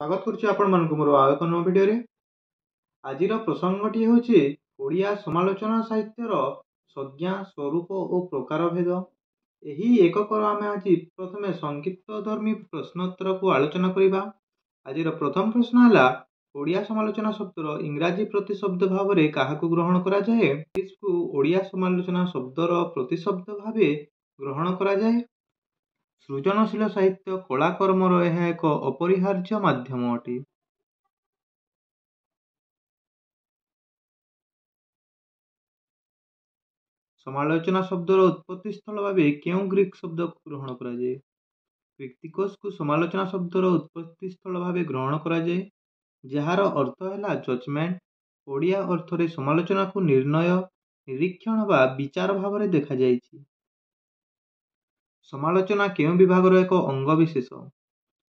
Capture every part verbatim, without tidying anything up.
ସ୍ୱାଗତ କରୁଛି ଆପଣମାନଙ୍କୁ ମୋର ଆଉ ଏକ ନୂଆ ଭିଡ଼ିଓରେ। ଆଜିର ପ୍ରସଙ୍ଗଟି ହେଉଛି ଓଡ଼ିଆ ସମାଲୋଚନା ସାହିତ୍ୟର ସଂଜ୍ଞା, ସ୍ୱରୂପ ଓ ପ୍ରକାରଭେଦ। ଏହି ଏକକର ଆମେ ଆଜି ପ୍ରଥମେ ସଂକ୍ଷିପ୍ତଧର୍ମୀ ପ୍ରଶ୍ନୋତ୍ତରକୁ ଆଲୋଚନା କରିବା। ଆଜିର ପ୍ରଥମ ପ୍ରଶ୍ନ ହେଲା, ଓଡ଼ିଆ ସମାଲୋଚନା ଶବ୍ଦର ଇଂରାଜୀ ପ୍ରତିଶବ୍ଦ ଭାବରେ କାହାକୁ ଗ୍ରହଣ କରାଯାଏ? କୁ ଓଡ଼ିଆ ସମାଲୋଚନା ଶବ୍ଦର ପ୍ରତିଶବ୍ଦ ଭାବେ ଗ୍ରହଣ କରାଯାଏ। ସୃଜନଶୀଳ ସାହିତ୍ୟ କଳାକର୍ମର ଏହା ଏକ ଅପରିହାର୍ଯ୍ୟ ମାଧ୍ୟମ ଅଟେ। ସମାଲୋଚନା ଶବ୍ଦର ଉତ୍ପତ୍ତି ସ୍ଥଳ ଭାବେ କେଉଁ ଗ୍ରୀକ୍ ଶବ୍ଦକୁ ଗ୍ରହଣ କରାଯାଏ? କ୍ରିତିକୋଷକୁ ସମାଲୋଚନା ଶବ୍ଦର ଉତ୍ପତ୍ତି ସ୍ଥଳ ଭାବେ ଗ୍ରହଣ କରାଯାଏ, ଯାହାର ଅର୍ଥ ହେଲା ଜଜମେଣ୍ଟ। ଓଡ଼ିଆ ଅର୍ଥରେ ସମାଲୋଚନାକୁ ନିର୍ଣ୍ଣୟ, ନିରୀକ୍ଷଣ ବା ବିଚାର ଭାବରେ ଦେଖାଯାଇଛି। ସମାଲୋଚନା କେଉଁ ବିଭାଗର ଏକ ଅଙ୍ଗବିଶେଷ?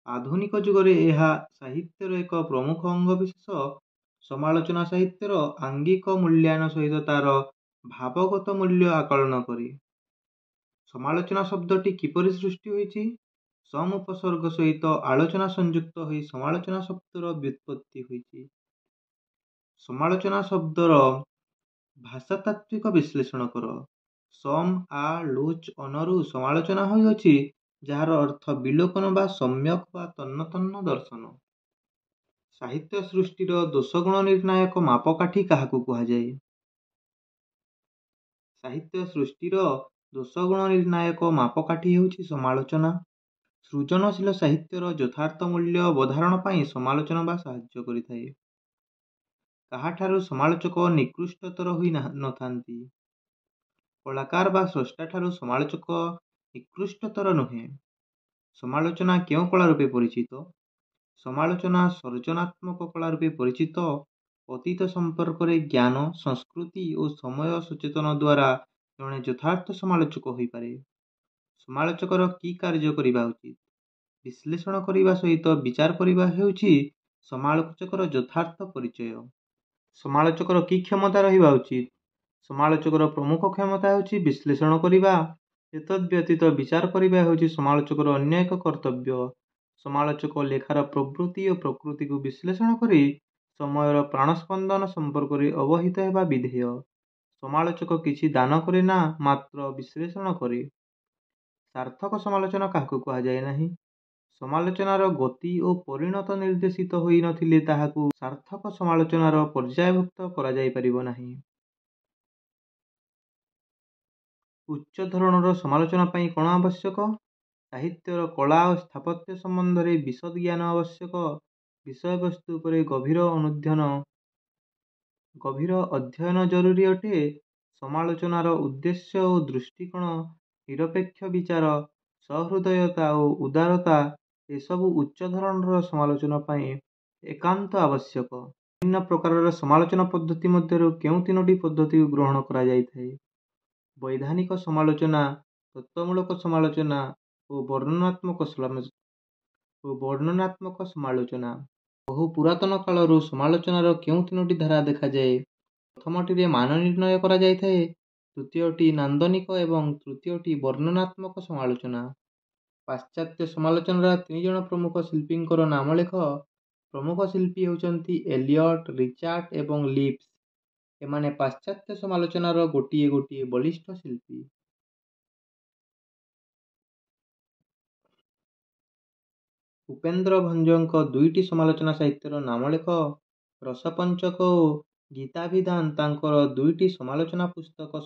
ଆଧୁନିକ ଯୁଗରେ ଏହା ସାହିତ୍ୟର ଏକ ପ୍ରମୁଖ ଅଙ୍ଗବିଶେଷ। ସମାଲୋଚନା ସାହିତ୍ୟର ଆଙ୍ଗିକ ମୂଲ୍ୟାୟନ ସହିତ ତାର ଭାବଗତ ମୂଲ୍ୟ ଆକଳନ କରେ। ସମାଲୋଚନା ଶବ୍ଦଟି କିପରି ସୃଷ୍ଟି ହୋଇଛି? ସମ୍ ଉପସର୍ଗ ସହିତ ଆଲୋଚନା ସଂଯୁକ୍ତ ହୋଇ ସମାଲୋଚନା ଶବ୍ଦର ବ୍ୟୁତ୍ପତ୍ତି ହୋଇଛି। ସମାଲୋଚନା ଶବ୍ଦର ଭାଷାତାତ୍ତ୍ୱିକ ବିଶ୍ଳେଷଣ କର। ସମ୍ ଆ ଲୋଚ୍ ଅନରୁ ସମାଲୋଚନା ହୋଇଅଛି, ଯାହାର ଅର୍ଥ ବିଲୋକନ ବା ସମ୍ୟକ ବା ତନ୍ନ ତନ୍ନ ଦର୍ଶନ। ସାହିତ୍ୟ ସୃଷ୍ଟିର ଦୋଷଗୁଣ ନିର୍ଣ୍ଣାୟକ ମାପକାଠି କାହାକୁ କୁହାଯାଏ? ସାହିତ୍ୟ ସୃଷ୍ଟିର ଦୋଷଗୁଣ ନିର୍ଣ୍ଣାୟକ ମାପକାଠି ହେଉଛି ସମାଲୋଚନା। ସୃଜନଶୀଳ ସାହିତ୍ୟର ଯଥାର୍ଥ ମୂଲ୍ୟ ଅବଧାରଣ ପାଇଁ ସମାଲୋଚନା ବା ସାହାଯ୍ୟ କରିଥାଏ। କାହାଠାରୁ ସମାଲୋଚକ ନିକୃଷ୍ଟତର ହୋଇ ନଥାନ୍ତି? କଳାକାର ବା ସ୍ରଷ୍ଟାଠାରୁ ସମାଲୋଚକ ନିକୃଷ୍ଟତର ନୁହେଁ। ସମାଲୋଚନା କେଉଁ କଳା ରୂପେ ପରିଚିତ? ସମାଲୋଚନା ସର୍ଜନାତ୍ମକ କଳା ରୂପେ ପରିଚିତ। ଅତୀତ ସମ୍ପର୍କରେ ଜ୍ଞାନ, ସଂସ୍କୃତି ଓ ସମୟ ସଚେତନ ଦ୍ୱାରା ଜଣେ ଯଥାର୍ଥ ସମାଲୋଚକ ହୋଇପାରେ। ସମାଲୋଚକର କି କାର୍ଯ୍ୟ କରିବା ଉଚିତ? ବିଶ୍ଳେଷଣ କରିବା ସହିତ ବିଚାର କରିବା ହେଉଛି ସମାଲୋଚକର ଯଥାର୍ଥ ପରିଚୟ। ସମାଲୋଚକର କି କ୍ଷମତା ରହିବା ଉଚିତ? ସମାଲୋଚକର ପ୍ରମୁଖ କ୍ଷମତା ହେଉଛି ବିଶ୍ଳେଷଣ କରିବା। ଏତଦ୍ବ୍ୟତୀତ ବିଚାର କରିବା ହେଉଛି ସମାଲୋଚକର ଅନ୍ୟ ଏକ କର୍ତ୍ତବ୍ୟ। ସମାଲୋଚକ ଲେଖାର ପ୍ରବୃତ୍ତି ଓ ପ୍ରକୃତିକୁ ବିଶ୍ଳେଷଣ କରି ସମୟର ପ୍ରାଣସ୍ପନ୍ଦନ ସମ୍ପର୍କରେ ଅବହିତ ହେବା ବିଧେୟ। ସମାଲୋଚକ କିଛି ଦାନ କରେ ନା, ମାତ୍ର ବିଶ୍ଳେଷଣ କରେ। ସାର୍ଥକ ସମାଲୋଚନା କାହାକୁ କୁହାଯାଏ ନାହିଁ? ସମାଲୋଚନାର ଗତି ଓ ପରିଣତ ନିର୍ଦ୍ଦେଶିତ ହୋଇନଥିଲେ ତାହାକୁ ସାର୍ଥକ ସମାଲୋଚନାର ପର୍ଯ୍ୟାୟଭୁକ୍ତ କରାଯାଇପାରିବ ନାହିଁ। ଉଚ୍ଚ ଧରଣର ସମାଲୋଚନା ପାଇଁ କ'ଣ ଆବଶ୍ୟକ? ସାହିତ୍ୟର କଳା ଓ ସ୍ଥାପତ୍ୟ ସମ୍ବନ୍ଧରେ ବିଶଦ ଜ୍ଞାନ ଆବଶ୍ୟକ। ବିଷୟବସ୍ତୁ ଉପରେ ଗଭୀର ଅନୁଧ୍ୟାନ ଗଭୀର ଅଧ୍ୟୟନ ଜରୁରୀ ଅଟେ। ସମାଲୋଚନାର ଉଦ୍ଦେଶ୍ୟ ଓ ଦୃଷ୍ଟିକୋଣ, ନିରପେକ୍ଷ ବିଚାର, ସହୃଦୟତା ଓ ଉଦାରତା ଏସବୁ ଉଚ୍ଚ ଧରଣର ସମାଲୋଚନା ପାଇଁ ଏକାନ୍ତ ଆବଶ୍ୟକ। ବିଭିନ୍ନ ପ୍ରକାରର ସମାଲୋଚନା ପଦ୍ଧତି ମଧ୍ୟରୁ କେଉଁ ତିନୋଟି ପଦ୍ଧତିକୁ ଗ୍ରହଣ କରାଯାଇଥାଏ? ବୈଧାନିକ ସମାଲୋଚନା, ତତ୍ତ୍ୱମୂଳକ ସମାଲୋଚନା ଓ ବର୍ଣ୍ଣନାତ୍ମକ ଓ ବର୍ଣ୍ଣନାତ୍ମକ ସମାଲୋଚନା। ବହୁ ପୁରାତନ କାଳରୁ ସମାଲୋଚନାର କେଉଁ ତିନୋଟି ଧାରା ଦେଖାଯାଏ? ପ୍ରଥମଟିରେ ମାନ ନିର୍ଣ୍ଣୟ କରାଯାଇଥାଏ, ଦ୍ୱିତୀୟଟି ନାନ୍ଦନିକ ଏବଂ ତୃତୀୟଟି ବର୍ଣ୍ଣନାତ୍ମକ ସମାଲୋଚନା। ପାଶ୍ଚାତ୍ୟ ସମାଲୋଚନାର ତିନିଜଣ ପ୍ରମୁଖ ଶିଳ୍ପୀଙ୍କର ନାମ ଲେଖ। ପ୍ରମୁଖ ଶିଳ୍ପୀ ହେଉଛନ୍ତି ଏଲିଅଟ୍, ରିଚାର୍ଟ ଏବଂ ଲିପ୍ସ। ଏମାନେ ପାଶ୍ଚାତ୍ୟ ସମାଲୋଚନାର ଗୋଟିଏ ଗୋଟିଏ ବଳିଷ୍ଠ ଶିଳ୍ପୀ। ଉପେନ୍ଦ୍ର ଭଞ୍ଜଙ୍କ ଦୁଇଟି ସମାଲୋଚନା ସାହିତ୍ୟର ନାମ ଲେଖ। ରସପଞ୍ଚକ ଓ ଗୀତାଭିଧାନ ତାଙ୍କର ଦୁଇଟି ସମାଲୋଚନା ପୁସ୍ତକ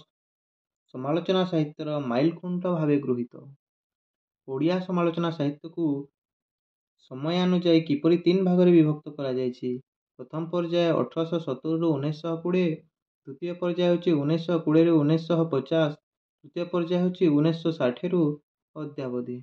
ସମାଲୋଚନା ସାହିତ୍ୟର ମାଇଲଖୁଣ୍ଟ ଭାବେ ଗୃହୀତ। ଓଡ଼ିଆ ସମାଲୋଚନା ସାହିତ୍ୟକୁ ସମୟାନୁଯାୟୀ କିପରି ତିନି ଭାଗରେ ବିଭକ୍ତ କରାଯାଇଛି? ପ୍ରଥମ ପର୍ଯ୍ୟାୟ ଅଠରଶହ ସତୁରିରୁ ଉଣେଇଶହ କୋଡ଼ିଏ, ଦ୍ୱିତୀୟ ପର୍ଯ୍ୟାୟ ହେଉଛି ଉଣେଇଶହ କୋଡ଼ିଏରୁ ଉଣେଇଶହ ପଚାଶ, ତୃତୀୟ ପର୍ଯ୍ୟାୟ ହେଉଛି ଉଣେଇଶହ ଷାଠିଏରୁ ଅଦ୍ୟାବଧି।